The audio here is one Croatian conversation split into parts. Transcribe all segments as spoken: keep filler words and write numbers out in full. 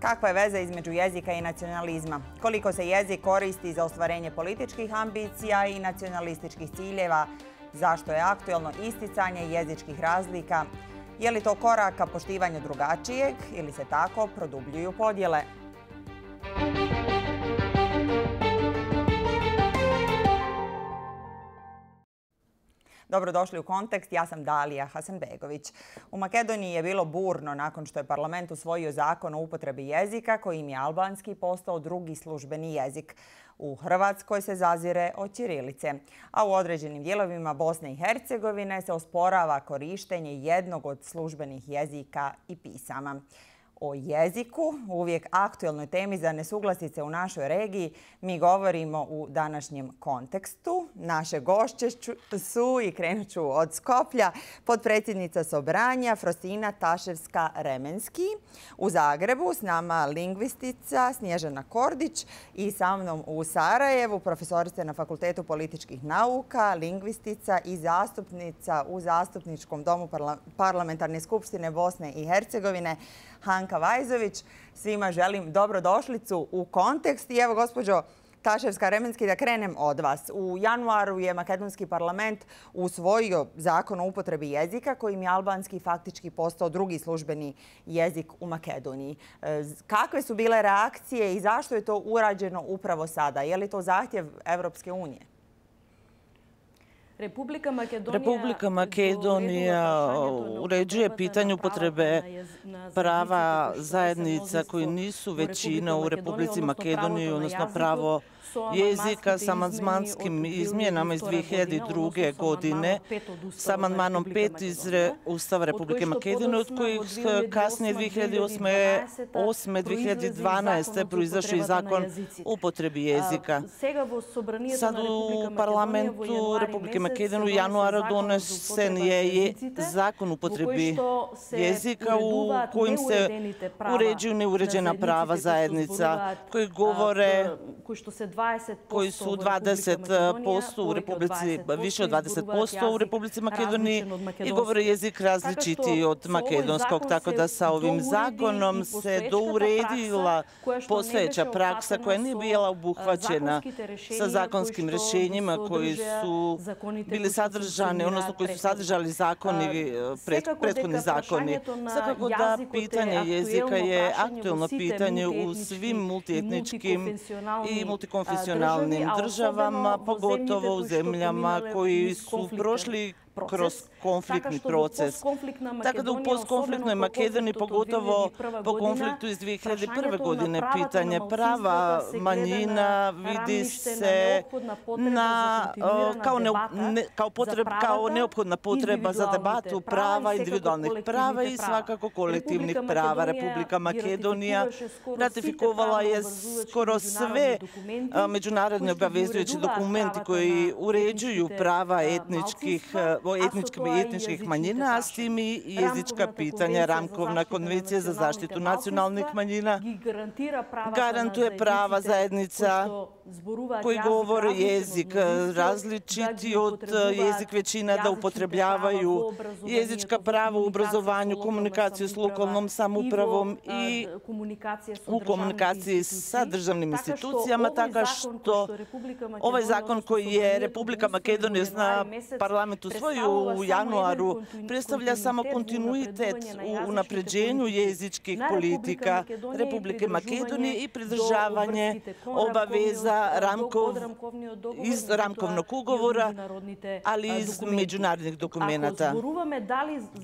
Kakva je veza između jezika i nacionalizma? Koliko se jezik koristi za ostvarenje političkih ambicija i nacionalističkih ciljeva? Zašto je aktuelno isticanje jezičkih razlika? Je li to korak ka poštivanju drugačijeg ili se tako produbljuju podjele? Dobrodošli u Kontekst, ja sam Dalija Hasanbegović. U Makedoniji je bilo burno nakon što je parlament usvojio zakon o upotrebi jezika kojim je albanski postao drugi službeni jezik. U Hrvatskoj se zazire od ćirilice, a u određenim dijelovima Bosne i Hercegovine se osporava korištenje jednog od službenih jezika i pisama. O jeziku, uvijek aktuelnoj temi za nesuglasice u našoj regiji, mi govorimo u današnjem Kontekstu. Naše gošće su, i krenut ću od Skoplja, potpredsjednica Sobranja Frosina Taševska-Remenski. U Zagrebu s nama lingvistica Snježana Kordić i sa mnom u Sarajevu profesorica na Fakultetu političkih nauka, lingvistica i zastupnica u Zastupničkom domu Parlamentarne skupštine Bosne i Hercegovine Hanka Vajzović. Svima želim dobrodošlicu u Kontekst. I evo, gospođo Taševska-Remenski, da krenem od vas. U januaru je makedonski parlament usvojio zakon o upotrebi jezika kojim je albanski faktički postao drugi službeni jezik u Makedoniji. Kakve su bile reakcije i zašto je to urađeno upravo sada? Je li to zahtjev Evropske unije? Republika Makedonija uređuje pitanje upotrebe prava zajednica koji nisu većina u Republici Makedoniji, odnosno pravo jezika s amandmanskim izmjenama iz dvije hiljade druge. godine, s amandmanom pet iz Ustava Republike Makedonije, od kojih kasnije dvije hiljade osme. dvije hiljade dvanaeste. proizašao i zakon o upotrebi jezika. Sad u parlamentu Republike Makedonije u januaru donesen je zakon o upotrebi jezika u kojim se uređuju neuređena prava zajednica koji govore koji su dvadeset posto u Republici, više od dvadeset posto u Republici Makedoniji i govore jezik različiti od makedonskog, tako da sa ovim zakonom se douredila postojeća praksa koja nije bila obuhvaćena sa zakonskim rješenjima koji su bili sadržani, odnosno koji su sadržali zakoni, prethodni zakoni. Svakako da pitanje jezika je aktuelno pitanje u svim multietničkim i multikonfesionalnim državama, pogotovo u zemljama koji su prošli kroz konfliktni proces. Tako da u postkonfliktnoj Makedoniji, pogotovo po konfliktu iz dvije hiljade prve. godine, pitanje prava manjina vidi se na, kao, ne, ne, kao, potreb, kao neophodna potreba za debatu prava, individualnih prava i svakako kolektivnih prava. Republika Makedonija ratifikovala je skoro sve međunarodne obavezujuće dokumenti koji uređuju prava etničkih etničkih i etničkih manjina, a s tim i jezička pitanja. Ramkovna konvencija za zaštitu nacionalnih manjina garantuje prava zajednica koji govore jezik različiti od jezik većina, da upotrebljavaju jezička prava u obrazovanju, komunikaciju s lokalnom samoupravom i u komunikaciji sa državnim institucijama, tako što ovaj zakon koji je Republika Makedonija na parlamentu usvojio u januaru predstavlja samo kontinuitet u unapređenju jezičkih politika Republike Makedonije i pridržavanje obaveza Ramkov, iz Ramkovnog ugovora, ali i iz međunarodnih dokumenata.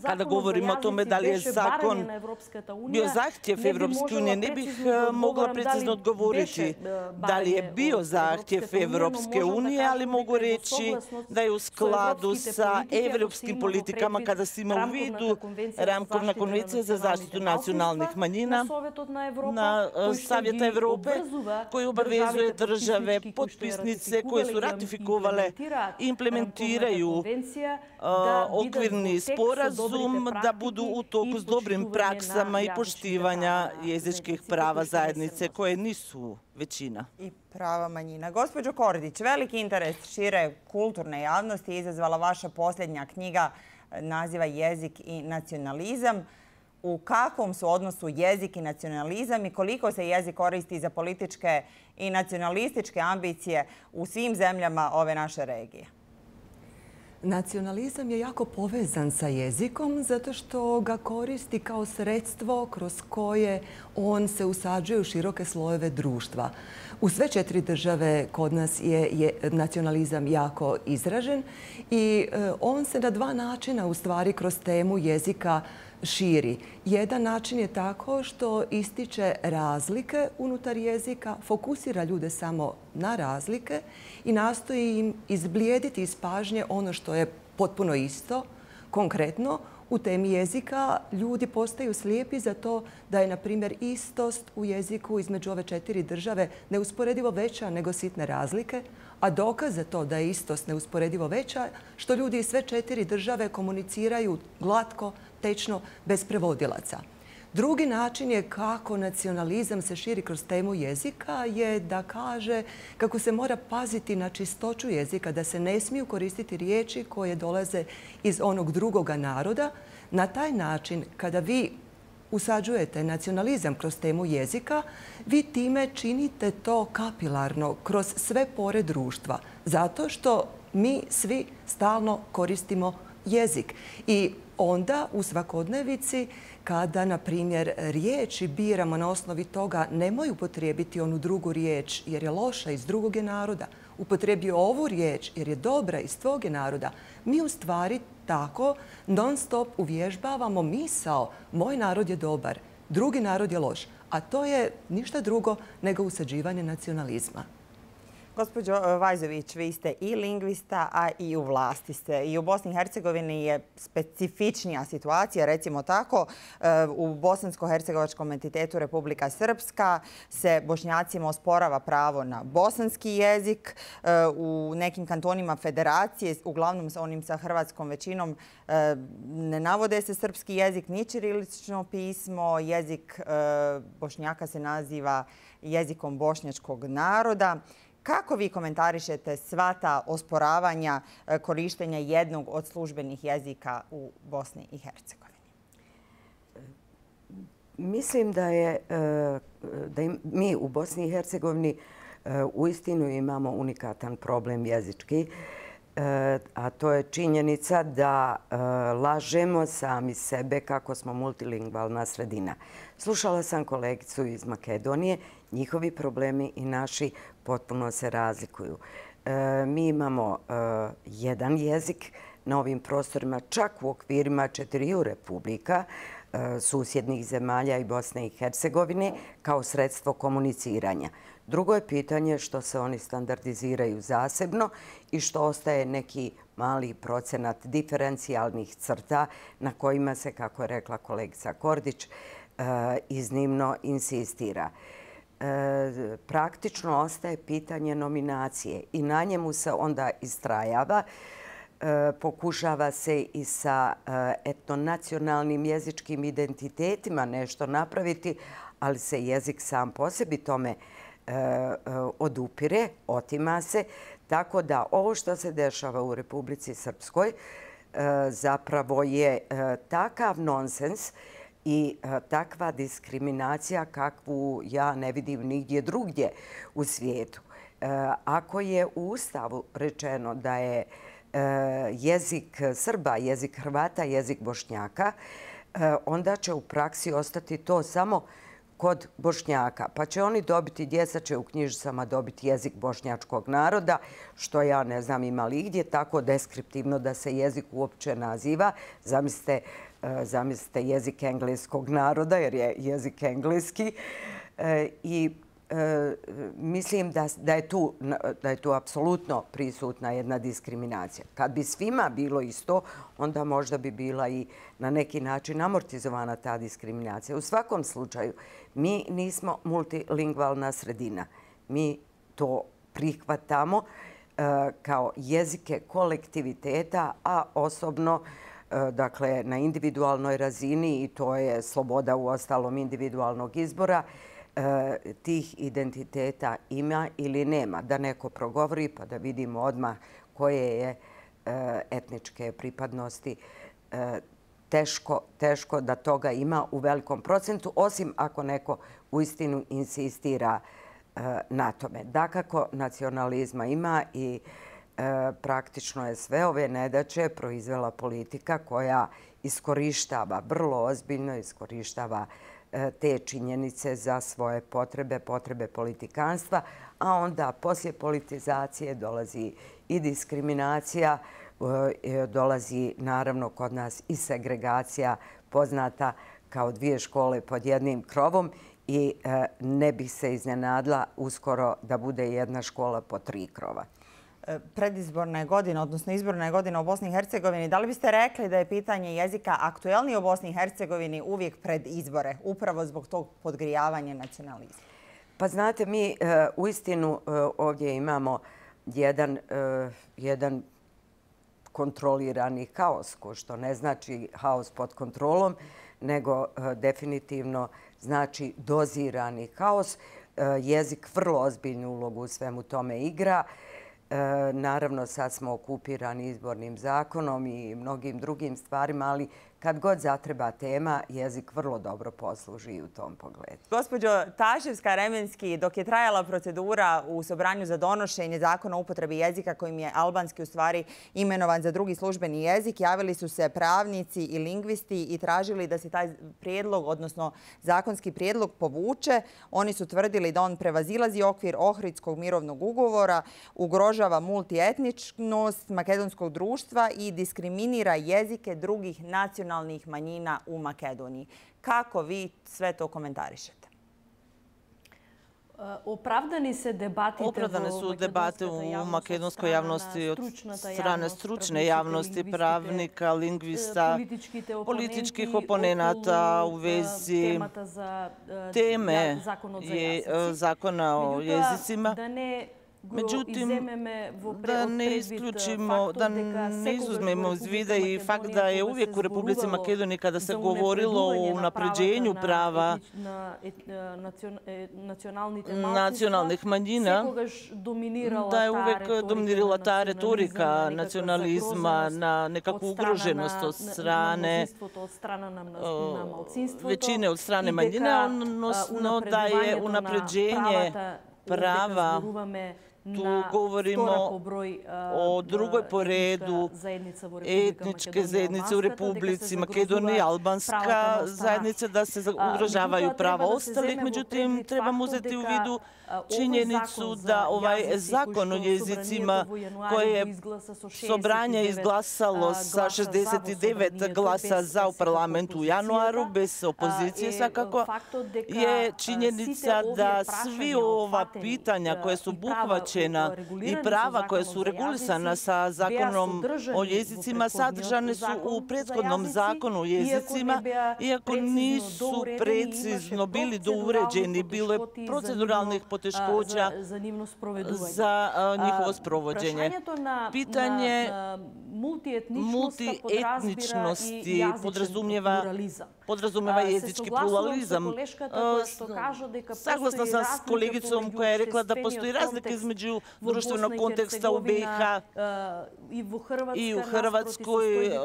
Kada govorimo o tome da li je zakon bio zahtjev Evropske unije, ne bih mogla precizno odgovoriti da li je bio zahtjev Evropske unije, ali mogu reći da je u skladu sa evropskim politikama kada se ima u vidu Ramkovna konvencija za zaštitu nacionalnih manjina na Savjeta Evrope koji obavezuje države potpisnice koje su ratifikovale i implementiraju okvirni sporazum da budu u toku s dobrim praksama i poštivanja jezičkih prava zajednice koje nisu većina. I prava manjina. Gospođo Kordić, veliki interes šire kulturne javnosti izazvala vaša posljednja knjiga naziva Jezik i nacionalizam. u kakvom su odnosu jezik i nacionalizam i koliko se jezik koristi za političke i nacionalističke ambicije u svim zemljama ove naše regije? Nacionalizam je jako povezan sa jezikom zato što ga koristi kao sredstvo kroz koje on se usađuje u široke slojeve društva. U sve četiri države kod nas je, je nacionalizam jako izražen i e, on se na dva načina u stvari kroz temu jezika širi. Jedan način je tako što ističe razlike unutar jezika, fokusira ljude samo na razlike i nastoji im izblijediti iz pažnje ono što je potpuno isto. Konkretno, u temi jezika ljudi postaju slijepi za to da je, na primjer, istost u jeziku između ove četiri države neusporedivo veća nego sitne razlike, a dokaz za to da je istost neusporedivo veća što ljudi iz sve četiri države komuniciraju glatko, tečno, bez prevodilaca. Drugi način je kako nacionalizam se širi kroz temu jezika je da kaže kako se mora paziti na čistoću jezika, da se ne smiju koristiti riječi koje dolaze iz onog drugoga naroda. Na taj način, kada vi usađujete nacionalizam kroz temu jezika, vi time činite to kapilarno kroz sve pore društva. Zato što mi svi stalno koristimo jezik. I onda u svakodnevici, kada, na primjer, riječi biramo na osnovi toga nemoj upotrijebiti onu drugu riječ jer je loša iz drugog je naroda, upotrebi ovu riječ jer je dobra iz tvog je naroda, mi u stvari tako non stop uvježbavamo misao moj narod je dobar, drugi narod je loš. A to je ništa drugo nego usađivanje nacionalizma. Gospođo Vajzović, vi ste i lingvista, a i u vlasti ste. I u Bosni i Hercegovini je specifičnija situacija, recimo tako. U bosansko-hercegovačkom entitetu Republika Srpska se Bošnjacima osporava pravo na bosanski jezik. U nekim kantonima federacije, uglavnom onim sa hrvatskom većinom, ne navode se srpski jezik ni ćirilično pismo. Jezik Bošnjaka se naziva jezikom bošnjačkog naroda. Kako vi komentarišete sva ta osporavanja korištenja jednog od službenih jezika u Bosni i Hercegovini? Mislim da je da mi u Bosni i Hercegovini uistinu imamo unikatan problem jezički, a to je činjenica da lažemo sami sebe kako smo multilingvalna sredina. Slušala sam kolegicu iz Makedonije, njihovi problemi i naši potpuno se razlikuju. Mi imamo jedan jezik na ovim prostorima, čak u okvirima četiriju republika, susjednih zemalja i Bosne i Hercegovine, kao sredstvo komuniciranja. Drugo je pitanje što se oni standardiziraju zasebno i što ostaje neki mali procenat diferencijalnih crta na kojima se, kako je rekla kolegica Kordić, iznimno insistira. Praktično ostaje pitanje nominacije i na njemu se onda istrajava. Pokušava se i sa etnonacionalnim jezičkim identitetima nešto napraviti, ali se jezik sam po sebi tome odupire, otima se. Tako da ovo što se dešava u Republici Srpskoj zapravo je takav nonsens i takva diskriminacija kakvu ja ne vidim nigdje drugdje u svijetu. Ako je u Ustavu rečeno da je jezik Srba, jezik Hrvata, jezik Bošnjaka, onda će u praksi ostati to samo kod Bošnjaka. Pa će oni dobiti, djeca će u knjižicama dobiti jezik bošnjačkog naroda, što ja ne znam ima li gdje tako deskriptivno da se jezik uopće naziva. Zamislite, zamislite jezik engleskog naroda, jer je jezik engleski. I mislim da, da, je tu, da je tu apsolutno prisutna jedna diskriminacija. Kad bi svima bilo isto, onda možda bi bila i na neki način amortizovana ta diskriminacija. U svakom slučaju, mi nismo multilingvalna sredina. Mi to prihvatamo uh, kao jezike kolektiviteta, a osobno uh, dakle, na individualnoj razini, i to je sloboda u ostalom individualnog izbora, tih identiteta ima ili nema. Da neko progovori pa da vidimo odmah koje je etničke pripadnosti. teško, teško da toga ima u velikom procentu, osim ako neko uistinu insistira na tome. Dakako, nacionalizma ima i praktično je sve ove nedaće proizvela politika koja iskorištava, vrlo ozbiljno iskorištava te činjenice za svoje potrebe, potrebe politikanstva, a onda poslije politizacije dolazi i diskriminacija, dolazi naravno kod nas i segregacija poznata kao dvije škole pod jednim krovom i ne bih se iznenadila uskoro da bude jedna škola po tri krova. Predizborne godine, odnosno izborne godine u Bosni i Hercegovini, da li biste rekli da je pitanje jezika aktuelnije u Bosni i Hercegovini uvijek pred izbore, upravo zbog tog podgrijavanja nacionalizma? Pa znate, mi uistinu ovdje imamo jedan, jedan kontrolirani haos, što ne znači haos pod kontrolom, nego definitivno znači dozirani haos. Jezik vrlo ozbiljnu ulogu u svemu tome igra. Naravno, sad smo okupirani izbornim zakonom i mnogim drugim stvarima, ali kad god zatreba tema, jezik vrlo dobro posluži i u tom pogledu. Gospođo Taševska-Remenski, dok je trajala procedura u Sobranju za donošenje zakona o upotrebi jezika kojim je albanski u stvari imenovan za drugi službeni jezik, javili su se pravnici i lingvisti i tražili da se taj prijedlog, odnosno zakonski prijedlog povuče. Oni su tvrdili da on prevazilazi okvir Ohridskog mirovnog ugovora, ugrožava multietničnost makedonskog društva i diskriminira jezike drugih nacionalnih manjina u Makedoniji. Kako vi sve to komentarišete? Opravdane su debate u makedonskoj javnosti od strane stručne javnosti, pravnika, lingvista, političkih oponenata u vezi teme zakona o jezicima. Međutim, da ne isključimo, da ne izuzmemo iz vida i fakt da je uvijek u Republici Makedoniji kada se govorilo o unapređenju prava nacionalnih manjina, da je uvijek dominirala ta retorika nacionalizma na nekakvu ugroženost od strane većine od strane manjine, odnosno da je unapređenje prava. Tu govorimo o drugoj po redu etničke zajednice u Republici Makedoniji, albanska zajednica, da se ugrožavaju prava ostalih. Međutim, trebamo uzeti u vidu činjenicu da ovaj zakon o jezicima koje je Sobranje izglasalo sa šezdeset devet glasa za u parlamentu u januaru, bez opozicije svakako, je činjenica da svi ova pitanja koje su obuhvaćena i prava koja su regulisana sa zakonom o jezicima sadržane su u prethodnom zakonu o jezicima, iako nisu precizno bili douređeni, bilo je proceduralnih poteškoća za njihovo sprovođenje. Pitanje multietničnosti podrazumijeva jezički pluralizam. Saglasna sam s kolegicom koja je rekla da postoji razlika između društvenog konteksta u B i H i u Hrvatskoj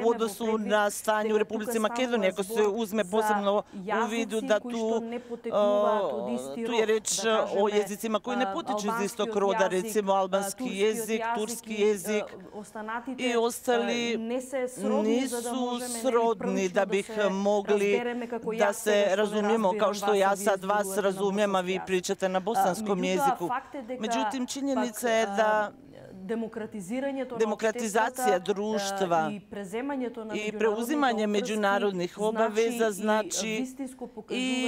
u odnosu na stanje u Republici Makedoniji. Ako se uzme posebno u vidu da tu je reč o jezicima koji ne potiču iz istog roda, recimo albanski jezik, turski jezik i ostali nisu srodni da bih mogli da se razumijemo kao što ja sad vas razumijem, a vi pričate na bosanskom jeziku. Međutim, činjenica je da demokratizacija društva i preuzimanje međunarodnih obaveza znači i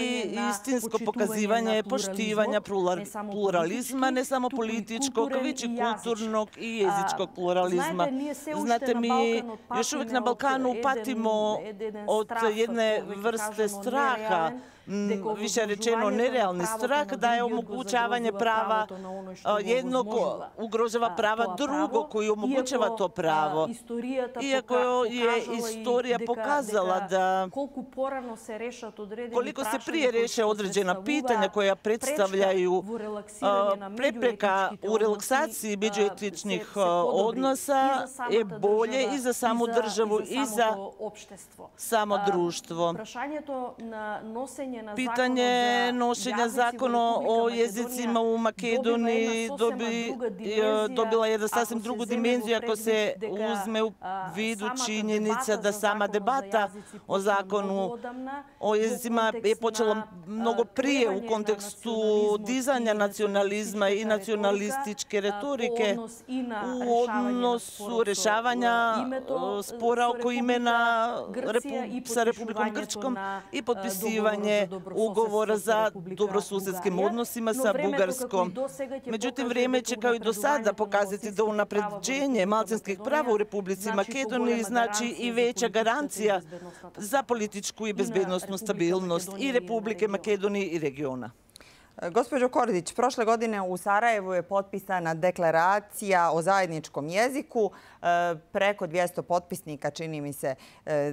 istinsko pokazivanje poštivanja pluralizma, ne samo političkog, već i kulturnog i jezičkog pluralizma. Znate, mi još uvijek na Balkanu patimo od jedne vrste straha, više rečeno nerealni strah, da je omogućavanje prava jednog ugrožava prava drugo koji omogućava to pravo. Iako je istorija pokazala da koliko se prije reše određena pitanja koja predstavljaju prepreka u relaksaciji međuetničnih odnosa, je bolje i za samu državu i za samo društvo. Pitanje nošenja zakona o jezicima u Makedoniji dobila je da sasvim drugu dimenziju ako se uzme u vidu činjenica da sama debata o zakonu o jezicima je počela mnogo prije u kontekstu dizanja nacionalizma i nacionalističke retorike u odnosu rješavanja spora oko imena sa Republikom Grčkom i potpisivanje ugovora za dobrosusjedskim odnosima sa Bugarskom. Međutim, vrijeme će kao i do sada pokazati da unapređenje malčanskih prava u Republici Makedoniji znači i veća garancija za političku i bezbednosnu stabilnost i Republike Makedonije i regiona. Gospođo Kordić, prošle godine u Sarajevu je potpisana deklaracija o zajedničkom jeziku. Preko dvjesto potpisnika čini mi se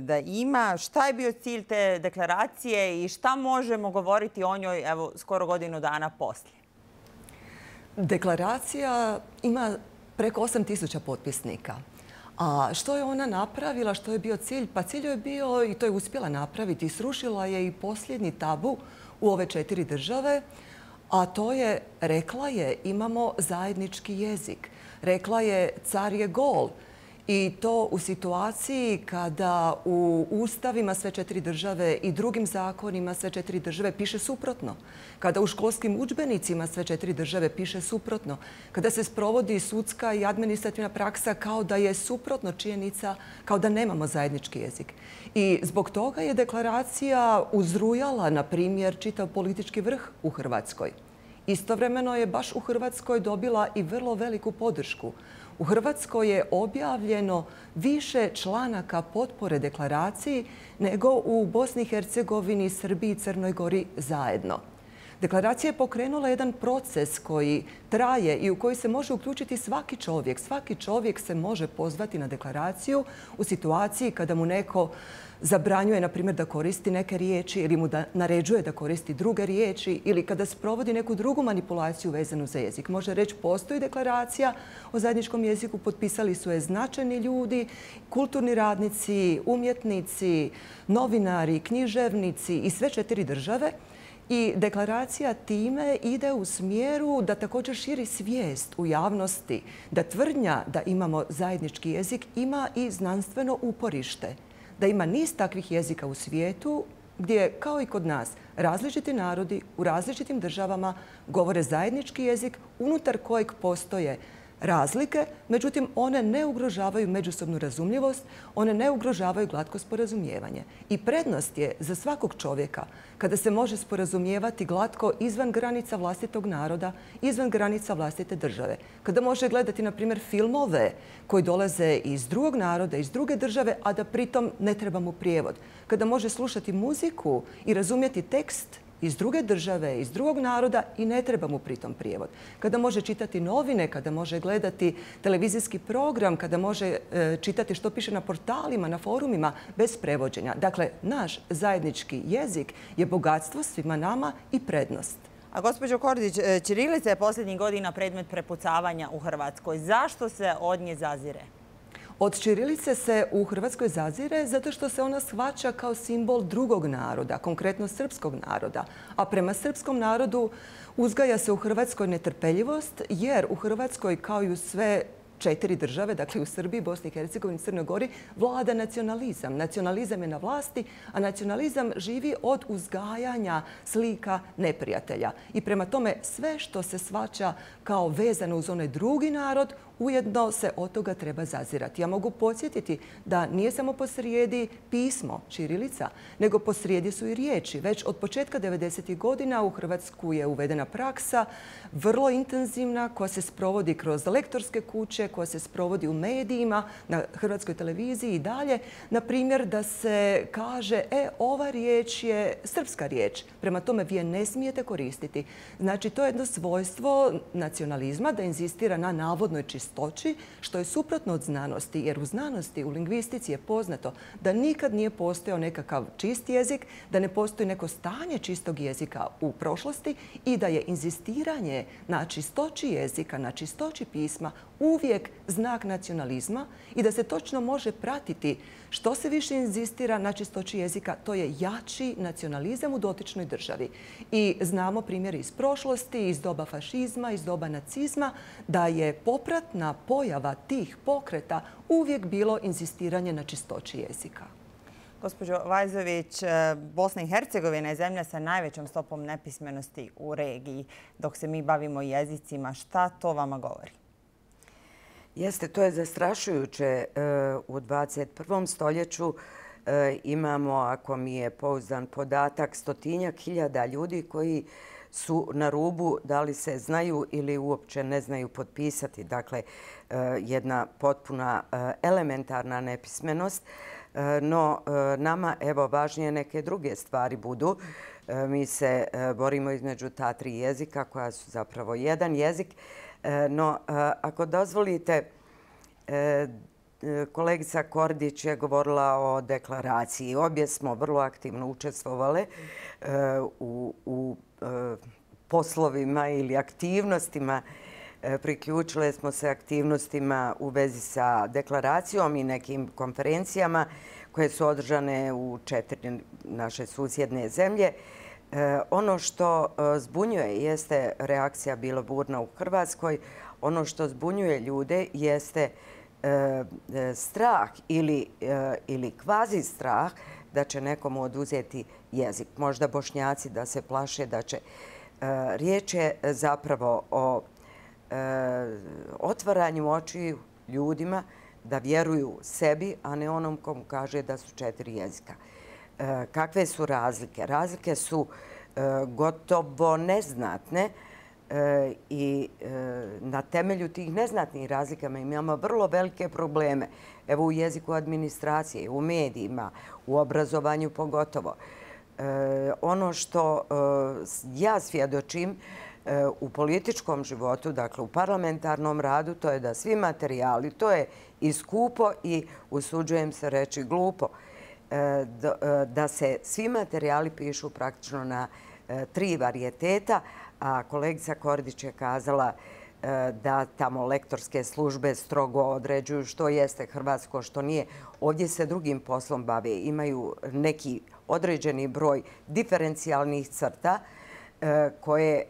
da ima. Šta je bio cilj te deklaracije i šta možemo govoriti o njoj evo skoro godinu dana poslije? Deklaracija ima preko osam tisuća potpisnika. A što je ona napravila, što je bio cilj? Pa cilj je bio, i to je uspjela napraviti, srušila je i posljednji tabu u ove četiri države, a to je, rekla je, imamo zajednički jezik. Rekla je, car je gol. I to u situaciji kada u ustavima sve četiri države i drugim zakonima sve četiri države piše suprotno. Kada u školskim udžbenicima sve četiri države piše suprotno. Kada se sprovodi sudska i administrativna praksa kao da je suprotno činjenica, kao da nemamo zajednički jezik. I zbog toga je deklaracija uzrujala, na primjer, čitav politički vrh u Hrvatskoj. Istovremeno je baš u Hrvatskoj dobila i vrlo veliku podršku. U Hrvatskoj je objavljeno više članaka potpore deklaraciji nego u Bosni i Hercegovini, Srbiji i Crnoj Gori zajedno. Deklaracija je pokrenula jedan proces koji traje i u koji se može uključiti svaki čovjek. Svaki čovjek se može pozvati na deklaraciju u situaciji kada mu neko zabranjuje, na primjer, da koristi neke riječi ili mu da naređuje da koristi druge riječi ili kada sprovodi neku drugu manipulaciju vezanu za jezik. Može reći, postoji deklaracija o zajedničkom jeziku, potpisali su je značajni ljudi, kulturni radnici, umjetnici, novinari, književnici i sve četiri države. I deklaracija time ide u smjeru da također širi svijest u javnosti, da tvrdnja da imamo zajednički jezik ima i znanstveno uporište. Da ima niz takvih jezika u svijetu gdje, kao i kod nas, različiti narodi u različitim državama govore zajednički jezik unutar kojeg postoje razlike, međutim one ne ugrožavaju međusobnu razumljivost, one ne ugrožavaju glatko sporazumijevanje. I prednost je za svakog čovjeka kada se može sporazumijevati glatko izvan granica vlastitog naroda, izvan granica vlastite države. Kada može gledati, na primjer, filmove koji dolaze iz drugog naroda, iz druge države, a da pritom ne treba mu prijevod. Kada može slušati muziku i razumjeti tekst iz druge države, iz drugog naroda i ne treba mu pritom prijevod. Kada može čitati novine, kada može gledati televizijski program, kada može e, čitati što piše na portalima, na forumima, bez prevođenja. Dakle, naš zajednički jezik je bogatstvo svima nama i prednost. A gospođo Kordić, ćirilica je posljednjih godina predmet prepucavanja u Hrvatskoj. Zašto se od nje zazire? Od ćirilice se u Hrvatskoj zazire zato što se ona shvaća kao simbol drugog naroda, konkretno srpskog naroda. A prema srpskom narodu uzgaja se u Hrvatskoj netrpeljivost jer u Hrvatskoj, kao i u sve četiri države, dakle u Srbiji, Bosni i Hercegovini i Crnoj Gori, vlada nacionalizam. Nacionalizam je na vlasti, a nacionalizam živi od uzgajanja slika neprijatelja. I prema tome sve što se shvaća kao vezano uz onaj drugi narod, ujedno se od toga treba zazirati. Ja mogu podsjetiti da nije samo posrijedi pismo, ćirilica, nego posrijedi su i riječi. Već od početka devedesetih godina u Hrvatsku je uvedena praksa vrlo intenzivna koja se sprovodi kroz lektorske kuće, koja se sprovodi u medijima, na Hrvatskoj televiziji i dalje. Na primjer da se kaže, e, ova riječ je srpska riječ, prema tome vi je ne smijete koristiti. Znači, to je jedno svojstvo nacionalizma da inzistira na navodnoj čistoći čistoći, što je suprotno od znanosti, jer u znanosti, u lingvistici je poznato da nikad nije postojao nekakav čist jezik, da ne postoji neko stanje čistog jezika u prošlosti i da je inzistiranje na čistoći jezika, na čistoći pisma uvijek znak nacionalizma i da se točno može pratiti što se više inzistira na čistoći jezika, to je jači nacionalizam u dotičnoj državi. I znamo primjer iz prošlosti, iz doba fašizma, iz doba nacizma, da je popratna pojava tih pokreta uvijek bilo inzistiranje na čistoći jezika. Gospođo Vajzović, Bosna i Hercegovina je zemlja sa najvećom stopom nepismenosti u regiji. Dok se mi bavimo jezicima, šta to vama govori? Jeste, to je zastrašujuće. U dvadeset prvom stoljeću imamo, ako mi je pouzdan podatak, stotinjak hiljada ljudi koji su na rubu da li se znaju ili uopće ne znaju potpisati. Dakle, jedna potpuna elementarna nepismenost. No, nama, evo, važnije neke druge stvari budu. Mi se borimo između ta tri jezika koja su zapravo jedan jezik. No, ako dozvolite, kolegica Kordić je govorila o deklaraciji. Obje smo vrlo aktivno učestvovale u, u poslovima ili aktivnostima. Priključile smo se aktivnostima u vezi sa deklaracijom i nekim konferencijama koje su održane u četiri naše susjedne zemlje. Ono što zbunjuje jeste reakcija bila burna u Hrvatskoj. Ono što zbunjuje ljude jeste strah ili, ili kvazi strah da će nekomu oduzeti jezik. Možda Bošnjaci da se plaše da će. Riječ je zapravo o otvaranju očiju ljudima da vjeruju sebi, a ne onom komu kaže da su četiri jezika. Kakve su razlike? Razlike su gotovo neznatne i na temelju tih neznatnih razlika imamo vrlo velike probleme. Evo u jeziku administracije, u medijima, u obrazovanju pogotovo. Ono što ja svjedočim u političkom životu, dakle u parlamentarnom radu, to je da svi materijali, to je i skupo i usuđujem se reći glupo, da se svi materijali pišu praktično na tri varijeteta, a kolegica Kordić je kazala da tamo lektorske službe strogo određuju što jeste hrvatsko, što nije. Ovdje se drugim poslom bave. Imaju neki određeni broj diferencijalnih crta koje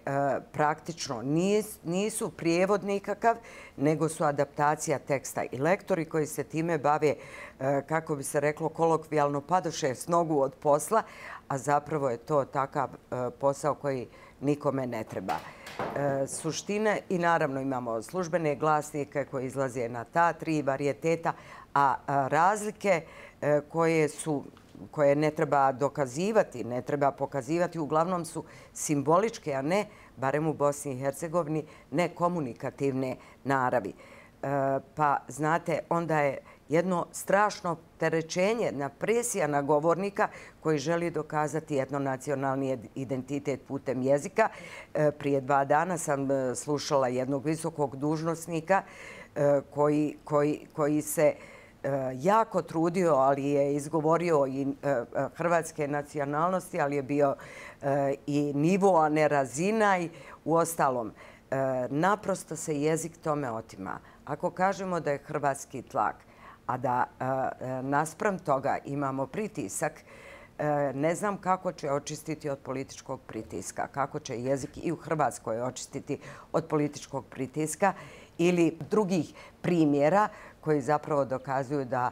praktično nisu prijevod nikakav, nego su adaptacija teksta. I lektori koji se time bave, kako bi se reklo kolokvijalno, padoše s nogu od posla, a zapravo je to takav posao koji nikome ne treba. Suština, i naravno imamo službene glasnike koji izlaze na ta tri varijeteta, a razlike koje su koje ne treba dokazivati, ne treba pokazivati, uglavnom su simboličke, a ne, barem u Bosni i Hercegovini, ne komunikativne naravi. Pa, znate, onda je jedno strašno terećenje, jedna presija na govornika koji želi dokazati etnonacionalni identitet putem jezika. Prije dva dana sam slušala jednog visokog dužnosnika koji, koji, koji se jako trudio, ali je izgovorio i hrvatske nacionalnosti, ali je bio i nivo, a ne razina i u ostalom. Naprosto se jezik tome otima. Ako kažemo da je hrvatski tlak, a da naspram toga imamo pritisak, ne znam kako će očistiti od političkog pritiska, kako će jezik i u Hrvatskoj očistiti od političkog pritiska ili drugih primjera koji zapravo dokazuju da,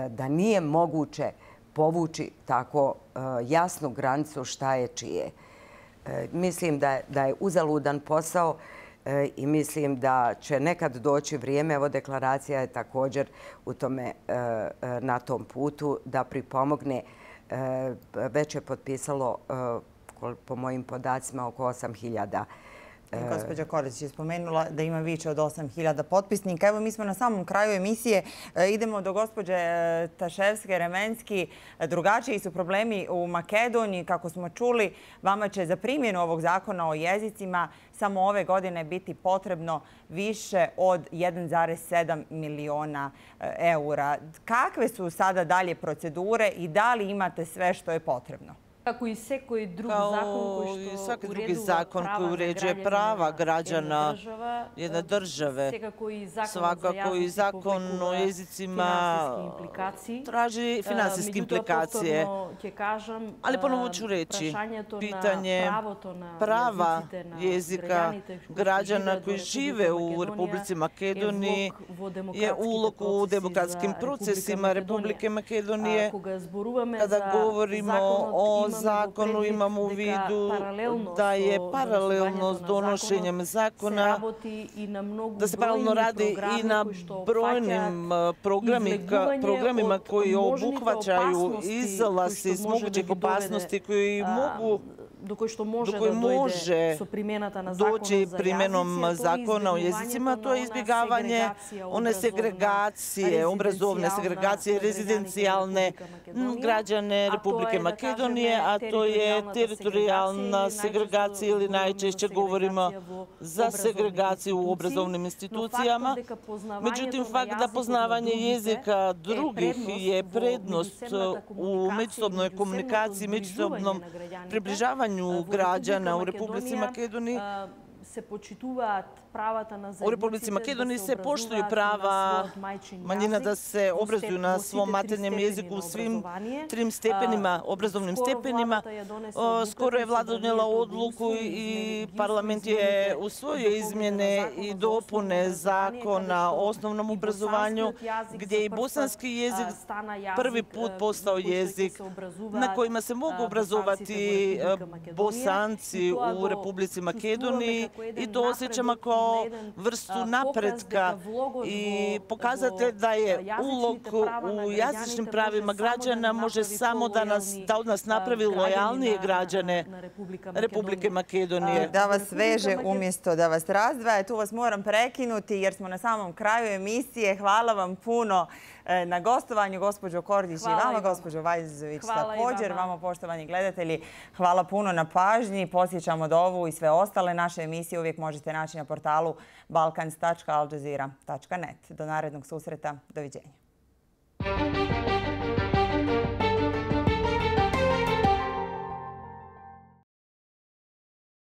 da nije moguće povući tako jasnu granicu šta je čije. Mislim da je, da je uzaludan posao i mislim da će nekad doći vrijeme, evo deklaracija je također u tome, na tom putu, da pripomogne. Već je potpisalo, po mojim podacima, oko osam hiljada Gospođa Kordić je spomenula da ima više od osam hiljada potpisnika. Evo, mi smo na samom kraju emisije. Idemo do gospođe Taševske-Remenski. Drugačiji su problemi u Makedoniji. Kako smo čuli, vama će za primjenu ovog zakona o jezicima samo ove godine biti potrebno više od jedan zarez sedam miliona eura. Kakve su sada dalje procedure i da li imate sve što je potrebno? Kako i svaki drugi zakon koji uređuje prava građana jedne države, svakako i zakon o jezicima traži finansijske implikacije. Ali ponovo ću reći, pitanje prava jezika građana koji žive u Republici Makedoniji je ulog u demokratskim procesima Republike Makedonije. Kada govorimo o zakonu imamo u vidu da je paralelno s donošenjem zakona, da se paralelno radi i na brojnim programima koji obuhvaćaju izlaz iz mogućih opasnosti koji mogu do koje može doći primjenom zakona o jezicima, to je izbjegavanje one segregacije, obrazovne segregacije, rezidencijalne građane Republike Makedonije, a to je teritorijalna segregacija ili najčešće govorimo za segregaciju u obrazovnim institucijama. Međutim, fakt da poznavanje jezika drugih je prednost u međusobnoj komunikaciji, međusobnom približavanju građana u Republici Makedoniji. U Republici Makedoniji se poštuju prava manjina da se obrazuju na svom maternjem jeziku u svim trim stepenima, obrazovnim stepenima. Skoro je vlada donijela odluku i parlament je usvojio izmjene i dopune zakona o osnovnom obrazovanju, gdje je i bosanski jezik prvi put postao jezik na kojima se mogu obrazovati Bosanci u Republici Makedoniji i to osjećamo kao vrstu napretka i pokazatelj da je ulog u jezičnim pravima građana može samo da od nas napravi lojalnije građane Republike Makedonije. Da vas veže umjesto da vas razdvaja. Tu vas moram prekinuti jer smo na samom kraju emisije. Hvala vam puno na gostovanju, gospođo Kordić, i vama, gospođo Vajzović, također. Vama, poštovani gledatelji, hvala puno na pažnji. Posjećamo da ovu i sve ostale naše emisije uvijek možete naći na portalu balkans tačka al jazeera tačka net. Do narednog susreta. Doviđenja.